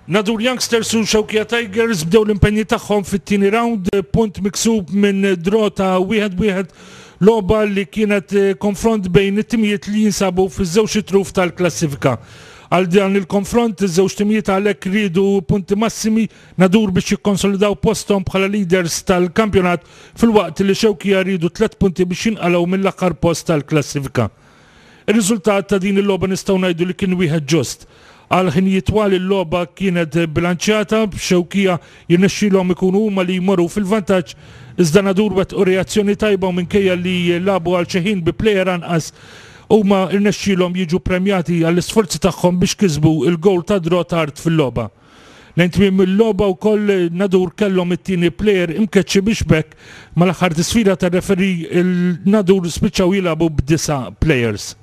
Nadur Youngsters u Xewkija Tigers bdew l-impenji tagħhom fit-tieni round, punt miksub minn draw ta' wieħed b'wieħed logħba li kienet konfront bejn it-timijiet li jinsabu fiż-żewġ itruf tal-klassifika. Għal dan il-konfront iż-żewġ timijiet għalhekk riedu punti massimi Nadur biex jikkonsolidaw posthom bħala leaders tal-kampjonat filwaqt li Xewkija riedu tlett punti biex jinqalgħu mill-aħħar post tal-klassifika. Ir-riżultat ta' din il-logħba nistgħu ngħidu li kien wieħed ġust. Għal ħinijiet twal il-logħba kienet bilanċjata, b'Xewkija jirnexxielhom ikunu huma li jmorru fil-vantaġġ, iżda Nadur wettqu reazzjoni tajba u minkejja li lagħbu għal xi ħin bi plejer anqas, huma rnexxielhom jiġu ppremjati għall-isforzi tagħhom biex kisbu l-gowl tad-draw tard fil-logħba. Lejn tmiem il-logħba wkoll Nadur kellhom it-tieni plejer imkeċċi biex b'hekk mal-aħħar tisfira tar-referee il-Nadur spiċċaw jilagħbu b'disa' plejers.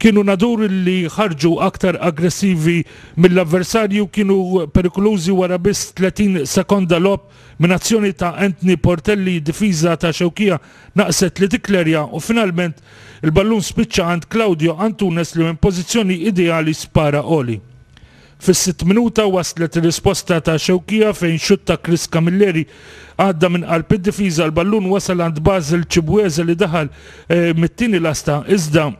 Kienu Nadur li ħarġu aktar aggressivi mill-avversarji u kienu perikolużi wara biss 30 sekonda logħob minn azzjoni ta' Anthony Portelli d-difiża ta' Xewkija naqset li tikklerja u finalment il-ballun spiċċa għand Claudio Antunes li minn pożizzjoni ideali spara għoli. Fis-sitt minuta waslet ir-risposta ta' Xewkija fejn xutt ta' Chris Camilleri għadda minn qalb id-difiża, l-ballun wasal għand Basil Chibueze li daħal mit-tieni lasta iżda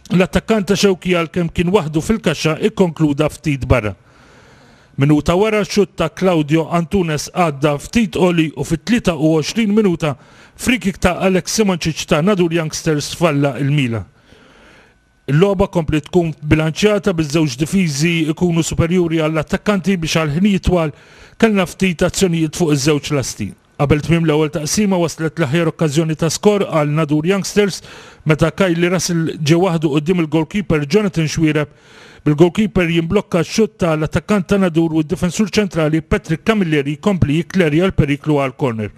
l-attakkant ta' Xewkija għalkemm kien waħdu fil-kaxxa ikkonkluda ftit barra. Minuta wara xutt ta' Claudio Antunes għadda ftit għoli u fit-23 minuta free-kick ta' Alex Simoncic ta' Nadur Youngsters falla l-mila. Il-logħba kompliet tkun bilanċjata biż-żewġ difiżi jkunu superjuri għall-attakkanti biex għal ħinijiet twal kellna ftit azzjonijiet fuq iż-żewġ lasti. Qabel tmiem l-ewwel taqsima waslet l-aħjar okkażjoni ta' skor għal Nadur Youngsters meta Kylie Russell ġie waħdu quddiem il-goalkeeper Jonathan Xuereb bil-goalkeeper jimblokka x-xutt ta' l-attakkant ta' Nadur u d-difensur ċentrali Patrick Camilleri jkompli jikklerja l-periklu għal corner.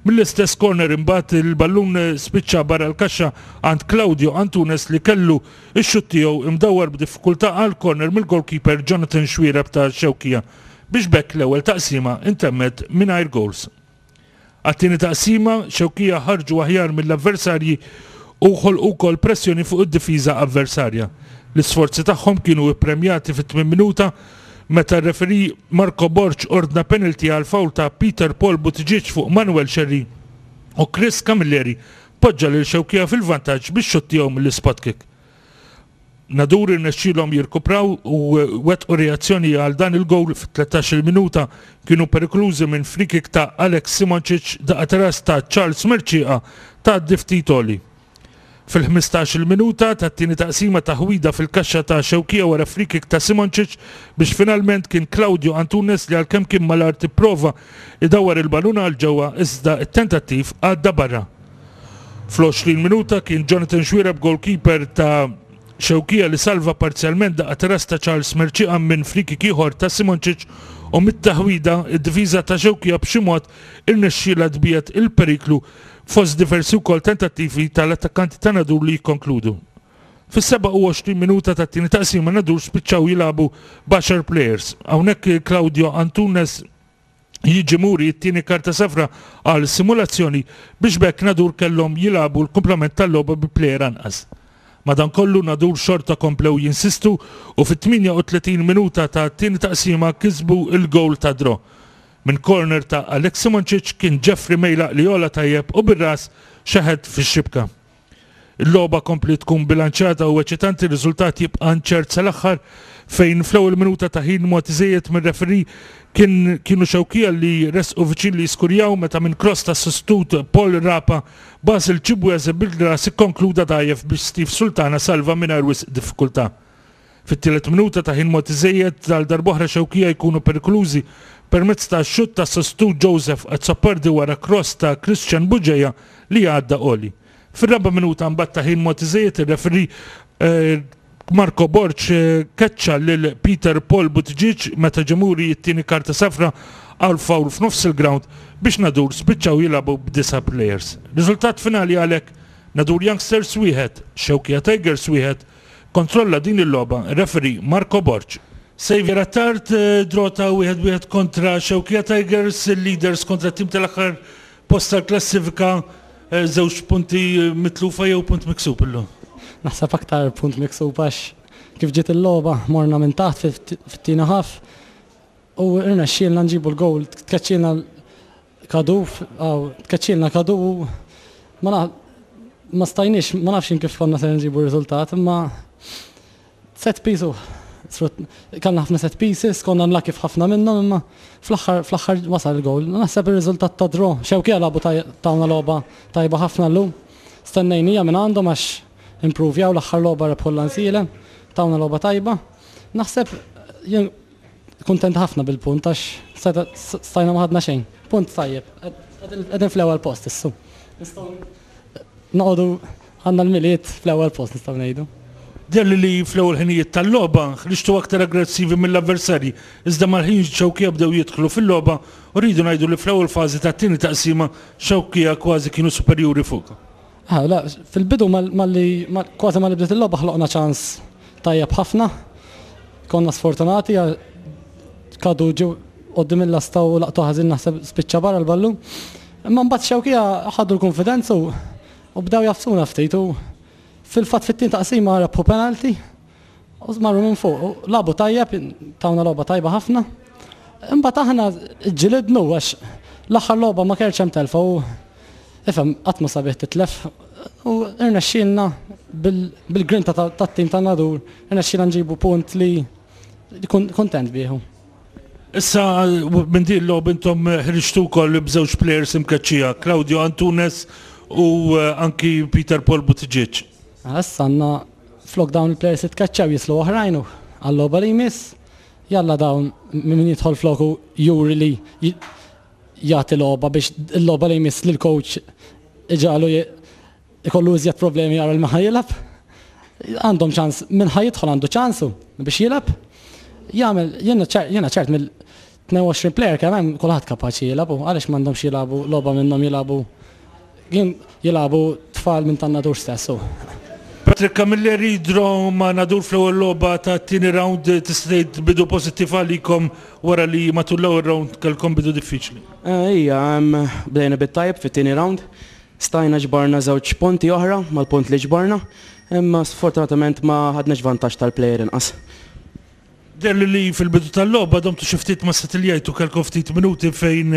Mill-istess corner imbagħad il-ballun spiċċa barra l-kaxxa għand Claudio Antunes li kellu x-xutt tiegħu imdawwar b'diffikultà għal corner mill-goalkeeper Jonathan Xuereb ta' Xewkija biex b'hekk l-ewwel taqsima ntemmet mingħajr goals. Għat-tieni taqsima, Xewkija ħarġu aħjar mill-avversarji u ħolqu wkoll pressjoni fuq id-difiża avversarja. L-isforzi tagħhom kienu ippremjati fit-tmien minuta meta r-referee Marco Borg ordna penalty għal foul ta' Peter Paul Buttigieg fuq Manuel Scerri u Chris Camilleri poġġa lil Xewkija fil-vantaġġ bix-xutt tiegħu mill-ispot kick. Nadur irnexxielhom jirkupraw u wettqu reazzjoni għal dan il-gowl fit-13-il minuta kienu perikolużi minn free-kick ta' Alex Simoncic daqqa ta' ras ta' Charles Mercieca tgħaddi ftit għoli. Fil-ħmistax-il minuta tat-tieni taqsima taħwida fil-kaxxa ta' Xewkija wara free-kick ta' Simoncic biex finalment kien Claudio Antunes li għalkemm kien mal-art ipprova jdawwar il-ballun għal ġewwa iżda t-tentattiv għadda barra. Fl-20 minuta kien Jonathan Xuereb goalkeeper ta' Xewkija li salva parzjalment daqqa ta' ras ta' Charles Mercieca minn free-kick ieħor ta' Simoncic u mit-taħwida id-difiża ta' Xewkija b'xi mod irnexxielha tbiegħed il-periklu fost diversi wkoll tentattivi tal-attakkanti ta' Nadur li jikkonkludu. Fis-27 minuta tat-tieni taqsima Nadur spiċċaw jilagħbu b'għaxar plejers. Hawnhekk Claudio Antunes jiġi muri t-tieni karta safra għal simulazzjoni biex b'hekk Nadur kellhom jilagħbu l-kumplament tal-logħba bi plejer anqas. Madankollu Nadur xorta komplew jinsistu u fit-38 minuta tat-tieni taqsima kisbu l-gowl tad-draw. Minn corner ta' Alex Simoncic kien Jeffrey Mejlaq li għola tajjeb u bir-ras xeħet fix-xibka. Il-logħba kompliet tkun bilanċjata u eċitanti, r-riżultat jibqa' inċert sal-aħħar fejn fl-ewwel minuta ta' ħin mogħti żejjed mir-referee kien kienu Xewkija li resqu viċin li jiskurjaw meta minn cross tas-sostitut Paul Rapa, Basil Chibueze bil-ras ikkonkluda dgħajjef biex Steve Sultana salva mingħajr wisq diffikultà. Fit-tielet minuta ta' ħin mogħti żejjed għal darb'oħra Xewkija jkunu perikolużi permezz ta' xutt tas-sostitut Joseph Azzopardi wara cross ta' Christian Bugeja li għadda għoli. Fir-raba' minuta mbagħad ta' ħin mogħti żejjed ir-referee Marco Borg keċċa lil Peter Paul Buttigieg meta ġie muri t-tieni karta safra għal foul f'nofs il-ground biex Nadur spiċċaw jilagħbu b'disa' players. Riżultat finali għalhekk Nadur Youngsters wieħed, Xewkija Tigers wieħed, Kontrolla din il-logħba r-referee Marco Borg. Saviour Attard, draw ta' wieħed wieħed kontra Xewkija Tigers, il-leaders kontra t-tim tal-aħħar post tal-klassifika, żewġ punti mitlufa jew punt miksub illum? Naħseb aktar punt miksub għax kif ġiet il-logħba morna minn taħt fit-tieni half. U rnexxielna nġibu l-gowl, tkeċċielna Kadu, tkeċċielna Kadu u ma ma stajniex, ma nafx kif konna se nġibu r-riżultat, imma set piece u kellna ħafna set pieces, konna unlucky f'ħafna minnhom, imma fl-aħħar fl-aħħar wasal il-gowl. Naħseb ir-riżultat ta' draw, Xewkija lagħbu tawna logħba tajba ħafna llum. Stennejnija minn għandhom għax improvjaw l-aħħar logħba rebħu l-Lansiele, tawna logħba tajba. Naħseb jien kuntent ħafna bil-punt għax stajna ma ħadna xejn. Punt tajjeb. Qegħdin fl-ewwel post issu. Nistgħu noqogħdu għandna l-Milied fl-ewwel post nistgħu ngħidu. Deher li fl-ewwel ħinijiet tal-logħba ħriġtu aktar aggressivi mill-avversarji, iżda mal-ħin Xewkija bdew jidħlu fil-logħba u rridu ngħidu li fl-ewwel fażi tat-tieni taqsima Xewkija kważi kienu superjuri fuqkom. Ah, la, fil-bidu malli kważi malli bdiet il-logħba ħloqna ċans tajjeb ħafna. Konna sfortunati kadu ġew qoddim il-lasta u laqtu ħażin naħseb spiċċa barra l-ballun. Imma mbagħad Xewkija ħadu l-konfidenza u bdew jafsuna ftit u fil-fatt fit-tieni taqsima rebħu penalty u marru minn fuq. Lagħbu tajjeb, tawna logħba tajba ħafna. Imbagħad aħna ġġilidnu għax l-aħħar logħba ma kellx hemm telfa u Ifhem, qatt ma sabiħ titlef u rnexxielna bil-grinta tat-tim ta' Nadur, rnexxielna nġibu punt li kuntent bih. Issa minn din il-logħba intom ħriġtu wkoll b'żewġ players imkeċċija, Claudio Antunes u anki Peter Paul Buttigieg. Issa għandna flok dawn il-players li tkeċċew jislu oħrajn u għal-logħba li jmiss. Jalla dawn min jidħol floku juri li jagħti logħba biex il-logħba li jmiss lill-coach iġagħlu ikollu iżjed problemi jara li ma ħa jilgħab. Għandhom ċans, min ħa jidħol għandu ċansu biex jilgħab. Jagħmel, jiena ċert mill-22 player kemm hemm kulħadd kapaċi jilgħab u għaliex m'għandhomx jilagħbu logħba minnhom jilagħbu Kien jilagħbu tfal minn tan-Nadur stess u. Patrick Camilleri, Draw ma' Nadur fl-ewwel logħba tat-tieni round tista' tgħid bidu pożittiv għalikom wara li matul l-ewwel round kellkom bidu diffiċli. Ija, bdejna bit-tajjeb fit-tieni round. Stajna ġbarna żewġ punti oħra mal-punt li ġbarna, imma sfortunatament ma ħadniex vantaġġ tal-plejer inqas. Deher li fil-bidu tal-logħba domtu xi ftit ma setiljajtu, kellkom ftit minuti fejn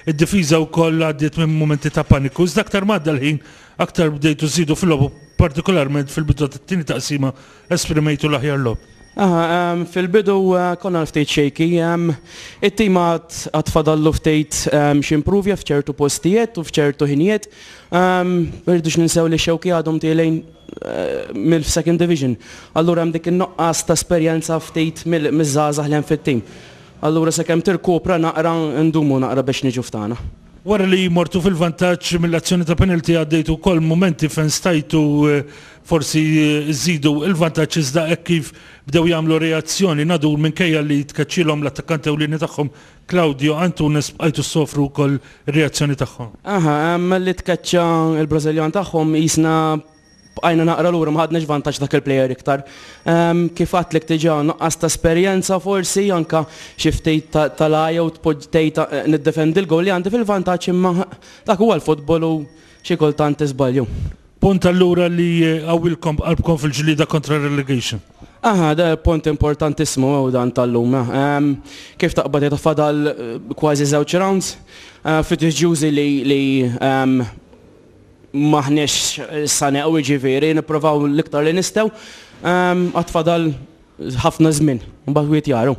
id-difiża wkoll għaddiet minn mumenti ta' paniku. Iżda aktar ma għadda l-ħin, aktar bdejtu żżidu fil-logħob u partikolarment fil-bidu tat-tieni taqsima esprimejtu l-aħjar logħob. Aha, fil-bidu konna ftit shaky. It-tim għad fadallu ftit x'improvja f'ċertu postijiet u f'ċertu ħinijiet. Ma rridux ninsew li x-Xewki għadhom tielgħin mill-Second Division. Allura hemm dik in-nuqqas ta' esperjenza ftit miż-żgħażagħ li hemm fit-tim. Allura sakemm tirkupra naqra ndumu naqra biex niġu f'tagħna. Wara li mortu fil-vantaġġ mill-azzjoni ta' penalty għaddejtu wkoll mumenti fejn stajtu forsi żżidu l-vantaġġ iżda hekk kif bdew jagħmlu reazzjoni Nadur minkejja li tkeċċielhom l-attakkant ewlieni tagħhom Claudio Antunes bqajtu ssofru wkoll ir-reazzjoni tagħhom. Aha, malli tkeċċa l-Brażiljan tagħhom qisna bqajna naqra lura ma ħadniex vantaġġ dak il-plejer iktar. Kif għedtlek diġà nuqqas ta' esperjenza forsi anke xi ftit tal-għajja u tpoġġi tgħid niddefendi l-goal li għandi fil-vantaġġ imma dak huwa l-futbol u xi kultant tiżbalju. Punt allura li jqawwilkom qalbkom fil-ġlieda kontra r-relegation. Aha, da punt importantissimu hu dan tal-lum. Kif taqbad tgħid fadal kważi żewġ rounds. Fiduċjużi li li m'aħniex sa neqgħu jiġifieri nipprovaw l-iktar li nistgħu. Għad fadal ħafna żmien, mbagħad wieħed jara.